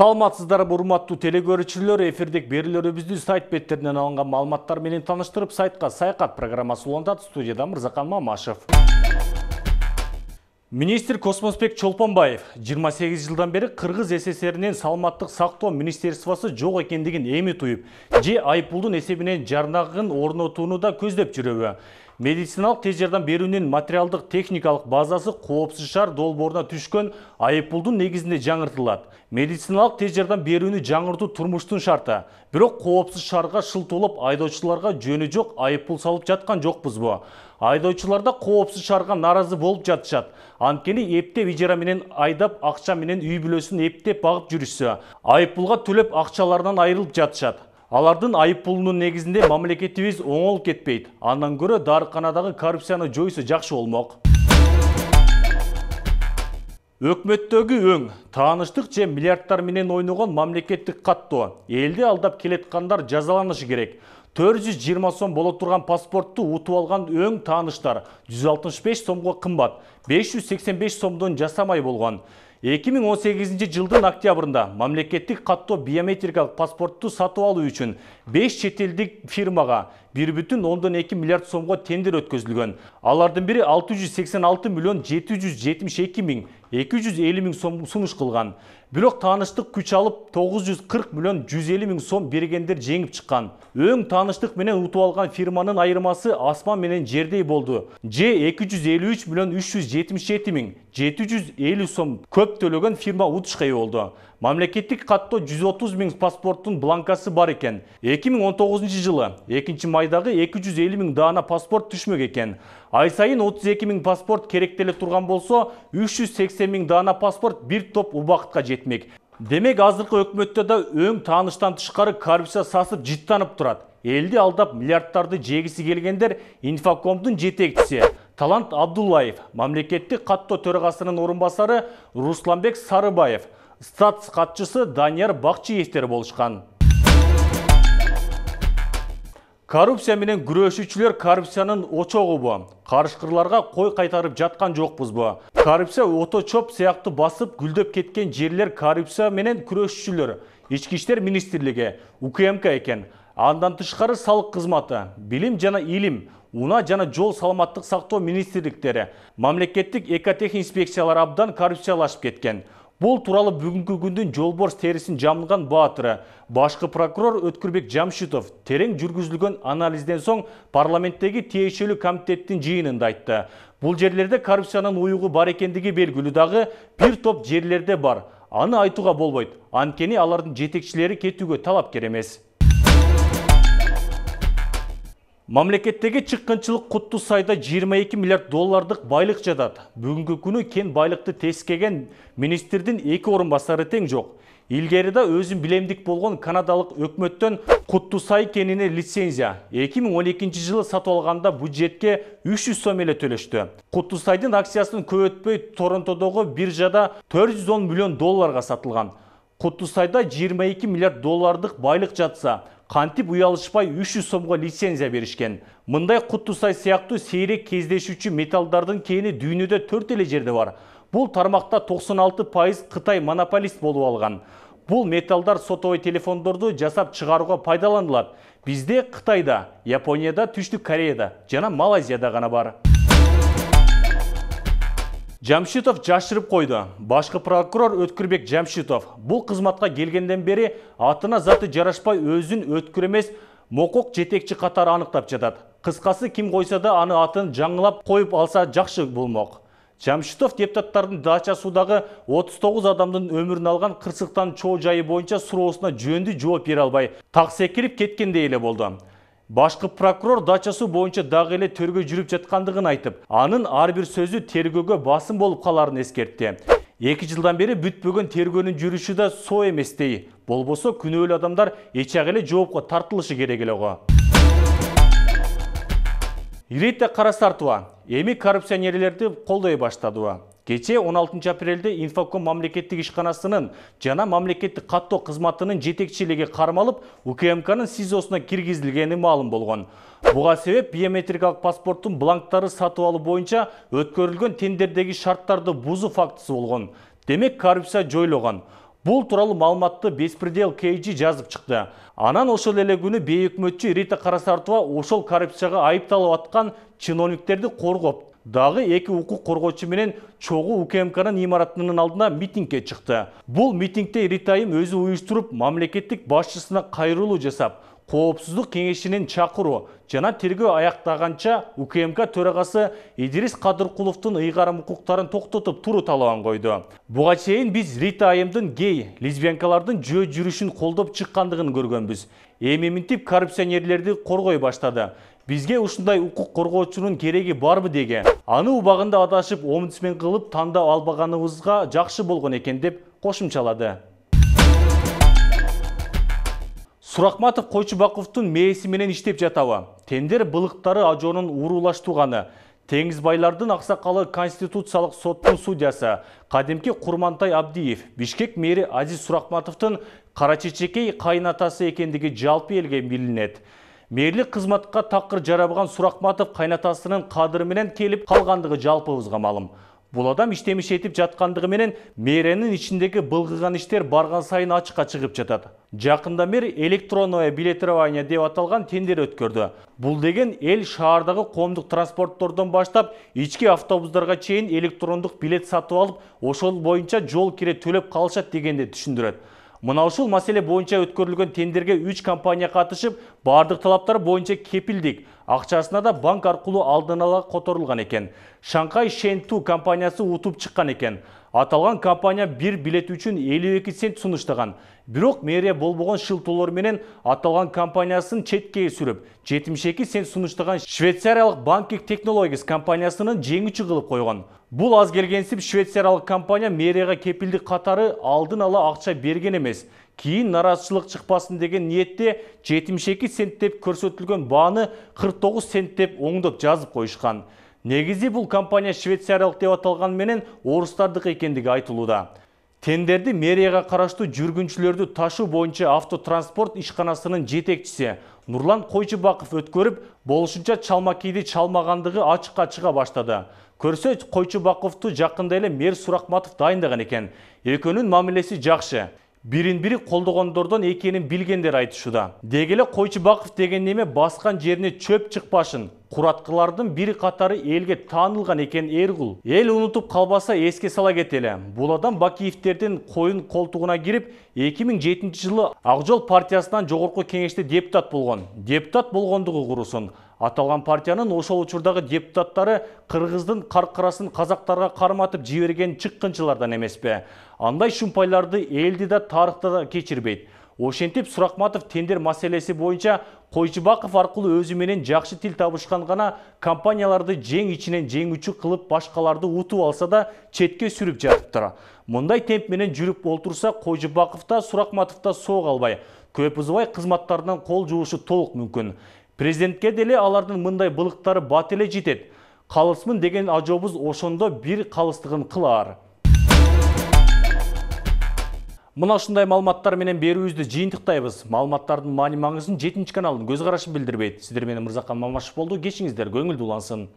Саламатсыздарбы урматтуу телекөрүүчүлөр, эфирдик берүүлөрүбүздү сайт беттеринен алынган маалыматтар менен таныштырып, сайтка саякат программасы улантат. Студияда Мырзакан Мамашев. Министр Космосбек Чолпонбаев 28 жылдан бери Кыргыз СССРинин саламаттык сактоо министерствосу жок экендигин эми туюп, же айыппулдун эсебинен жарнагын орнотууну да көздөп жүрөбү. Медициналык тез жардам берүүнүн материалдык техникалык базасы коопсуз шаар долбооруна түшкөн айыппулдун негизинде жаңыртылат. Медициналык тез жардам берүүнү жаңыртуу турмуштун шарты. Бирок коопсуз шаарга шылтуулап айдоочуларга жөнү жок айыппул салып жаткан жокпузбу? Айдоочулар да коопсуз шаарга нааразы болуп жатышат. Анткени эптеп ижара менен айдап, акча менен үй бүлөсүн эптеп багып жүрүшсө, айыппулга төлөп акчаларынан айрылып жатышат. Алардын айыппулунун негизинде мамлекетибиз оңол кетпейт. Андан көрө дарыканадагы коррупцияны жойсо жакшы болмок. Өкмөттөгү өң, тааныштык же миллиардтар менен ойногон мамлекеттик каттоо. Элди алдап келеткандар жазаланышы керек. 420 сом боло турган паспортту утуп алган өң тааныштар 165 сомго кымбат, 585 сомдон жасамай болгон. 2018 жылдын октябрында мамлекеттик каттоо биометрикалык паспортту сатып алуу үчүн 5 чет элдик фирмага 1,2 миллиард сомго тендер өткөзүлгөн. Алардын бири 686 миллион 772 миң 250 миң сом сунуш кылган. Бирок тааныштык күч алып 940 миллион 150 миң сом бергендер жеңип чыккан. Өң тааныштык менен утуп алган фирманын айырмасы асман менен жердей болду. Же 253 миллион 377 миң 750 сом көп төлөгөн фирма утушка ээ болду. Мамлекеттик каттоо 130 миң паспорттун бланкасы бар экен. 2019 жылы 2-майдагы 250 миң даана паспорт түшмөк экен. Ай сайын 32 миң паспорт керектеле турган болсо, 380 миң даана паспорт бир топ убакытка жетмек. Демек, азыркы өкмөттө да өң тааныштан тышкары коррупция сасып жыттанып турат. Элди алдап миллиардтарды жегиси келгендер Инфокомдун жетекчиси Талант Абдуллаев, мамлекеттик каттоо төрагасынын орун басары Русланбек Сарыбаев, статс катчысы Данияр Бакчиевтер болушкан. Коррупция менен күрөшүүчүлөр коррупциянын очогубу? Карышкырларга кой кайтарып жаткан жокпузбу? Коррупция ото чоп сыяктуу басып гүлдөп кеткен жерлер коррупция менен күрөшүүчүлөр Ички иштер министрлиги УКМК экен. Андан тышкары салык кызматы, билим жана илим, унаа жана жол саламаттык сактоо министрликтери, мамлекеттик экотех инспекциялар абдан коррупциялашып кеткен. Бул тууралуу бүгүнкү күндүн жолборс терисин жамылган баатыры, башкы прокурор Өткүрбек Жамшитов терең жүргүзүлгөн анализден соң парламенттеги тиешелүү комитеттин жыйынында айтты. Бул жерлерде коррупциянын уюгу бар экендиги белгилүү, дагы бир топ жерлерде бар. Аны айтууга болбойт. Анткени алардын жетекчилери кетүүгө талапкер эмес. Мамлекеттеги чыккынчылык Куттуу Сайда 22 миллиард доллардык байлык жатат. Бүгүнкү күнү кен байлыкты тескеген министрдин 2 орун басары тең жок. Илгери да өзүн билемдик болгон канадалык өкмөттөн Куттуу Сай кенине лицензия 2012 жылы сатып алганда бюджетке 300 сом эле төлөштү. Куттуу Сайдын акциясын көп өтпөй Торонтодогу биржада 410 миллион долларга сатылган. Куттуу Сайда 22 миллиард доллардык байлык жатса, кантип уялышпай 300 сомго лицензия беришкен. Мындай Куттуу Сай сыяктуу сейрек кездешүүчү металлдардын кени дүйнөдө 4 эле жерде бар. Бул тармакта 96% Кытай монополист болуп алган. Бул металлдар сотовой телефондорду жасап чыгарууга пайдаланылат. Бизде Кытайда, Японияда, Түштүк Кореяда жана Малайзияда гана бар. Жамшитов жашырып койду. Башкы прокурор Өткүрбек Жамшитов бул кызматка келгенден бери атына заты жарашпай өзүн өткүр эмес мокок жетекчи катары аныктап жатат. Кыскасы, ким койсо да аны атын жаңылап коюп алса жакшы болмок. Жамшитов депутаттардын дачасындагы 39 адамдын өмүрүн алган кырсыктан чоо жайы боюнча суроосуна жөндүү жооп бере албай так секирип кеткендей эле болду. Башкы прокурор дачасы боюнча дагы эле тергөө жүрүп жаткандыгын айтып, анын ар бир сөзү тергөөгө басым болуп каларын эскертти. 2 жылдан бери бүтпөгөн тергөөнүн жүрүшү да соо эместей. Болбосо күнөөлүү адамдар эчак эле жоопко тартылышы керек эле го. Иретте Карасартова эми коррупционерлерди колдой баштадыбы? Кече 16 апрелде Инфоком мамлекеттик ишканасынын жана мамлекеттик каттоо кызматынын жетекчилиги кармалып, УКМКнын СИЗОсуна киргизилгени маалым болгон. Буга себеп биометрикалык паспорттун бланктары сатып алуу боюнча өткөрүлгөн тендердеги шарттарды бузуу фактысы болгон. Демек, коррупция жойлогон. Бул тууралуу маалыматты Беспредел KG жазып чыкты. Анан ошол эле күнү бейөкмөтчү Рита Карасартова ошол коррупцияга айыпталып аткан чиновниктерди коргоп, дагы 2 укук коргоочу менен чогуу УКМКнын имаратынын алдына митингге чыкты. Бул митингде Рита айым өзү уюштуруп, мамлекеттик башчысына кайрылуу жасап, Коопсуздук кеңешинин чакыруу жана тергөө аяктаганча УКМК төрагасы Идирис Кадыркуловдун ыйгарым укуктарын токтотуп туруу талабын койду. Буга чейин биз Рита айымдын гей, лесбиянкалардын жөө жүрүшүн колдоп чыккандыгын көргөнбүз. Эми минтип коррупционерлерди коргой баштады. Бизге ушундай укук коргоочунун кереги барбы деге. Аны убагында адашып, омбудсмен кылып тандап албаганыбызга жакшы болгон экен деп кошумчалады. Суракматов Койчубаковдун мээси менен иштеп жатабы? Тендер былыктары ажоонун уруулаштууганы. Теңиз байлардын аксакалы Конституциялык соттун судьясы кадимки Курмантай Абдиев, Бишкек мэри Азиз Суракматовдун кара чечекей кайнатасы экендиги жалпы элге билинет. Мэрлик кызматка такыр жарабаган Суракматов кайнатасынын кадыры менен келип калгандыгы жалпыбызга маалым. Бул адам иштемиш этип жаткандыгы менен мэренин ичиндеги былгыган иштер барган сайын ачыкка чыгып жатат. Жакында мэр электронное билетирование деп аталган тендер өткөрдү. Бул деген эл шаардагы коомдук транспорттордон баштап ички автобустарга чейин электрондук билет сатып алып, ошол боюнча жол кире төлөп калышат дегенди түшүндүрөт. Мына ушул маселе боюнча өткөрүлгөн тендерге 3 компания катышып, бардык талаптар боюнча кепилдик акчасына да банк аркылуу алдын ала которулган экен. Шанхай Шенту компаниясы утуп чыккан экен. Аталган компания бир билет үчүн 52 цент сунуштаган. Бирок мэрия болбогон шылтоолор менен аталган компаниясын четке сүрүп, 72 цент сунуштаган швейцариялык Banking Technologies компаниясынын жеңүүчү кылып койгон. Бул аз келгенсип швейцариялык компания мэрияга кепилдик катары алдын ала акча берген эмес. Кийин нараазычылык чыкпасын деген ниетте 72 цент деп көрсөтүлгөн бааны 49 цент деп оңдоп жазып коюшкан. Негизи бул компания швейцариялык деп аталган менен орустардык экендиги айтылууда. Тендерди мэрияга караштуу жүргүнчүлөрдү ташуу боюнча автотранспорт ишканасынын жетекчиси Нурлан Койчубаков өткөрүп, болушунча чалма кийди чалмагандыгы ачыкка чыга баштады. Көрсө Койчубаковду жакында эле мэр Суракматов дайындаган экен. Экөөнүн мамилеси жакшы. Бирин-бири колдогондордон экенин билгендер айтышууда. Деги эле Койчубаков деген неме баскан жерине чөп чыкпашын. Кураткылардын бири катары элге таанылган экен Эргул. Эл унутуп калбаса эске сала кетели. Бул адам Бакиевтердин коюн колтугуна кирип, 2007 жылы Ак Жол партиясынан жогорку кеңеште депутат болгон. Депутат болгондугу курусун. Аталган партиянын ошол учурдагы депутаттары кыргыздын каркырасын казактарга карматып жиберген чыккынчылардан эмеспи? Андай шумпайларды элди да тарыхта да кечирбейт. Ошентип Суракматов тендер маселеси боюнча Койчубаков аркылуу өзү менен жакшы тил табышкан гана компанияларды жең ичинен жеңүүчү кылып башкаларды утуп алса да четке сүрүп жатыптыр. Мындай темп менен жүрүп олтурса Койчубаков да Суракматов да соо калбай, көп узбай кызматтарынан кол жуушу толук мүмкүн. Президентке деле алардын мындай былыктары бат эле жетет. Калысмын деген ажообуз ошондо бир калыстыгын кылаар. Мына ушундай маалыматтар менен берүүбүздү жыйынтыктайбыз. Маалыматтардын маани маңызын 7 каналдын көз карашын билдирбейт. Сиздер менен Мырзакан Мамашев болду. Кечиңиздер көңүлдүү улансын.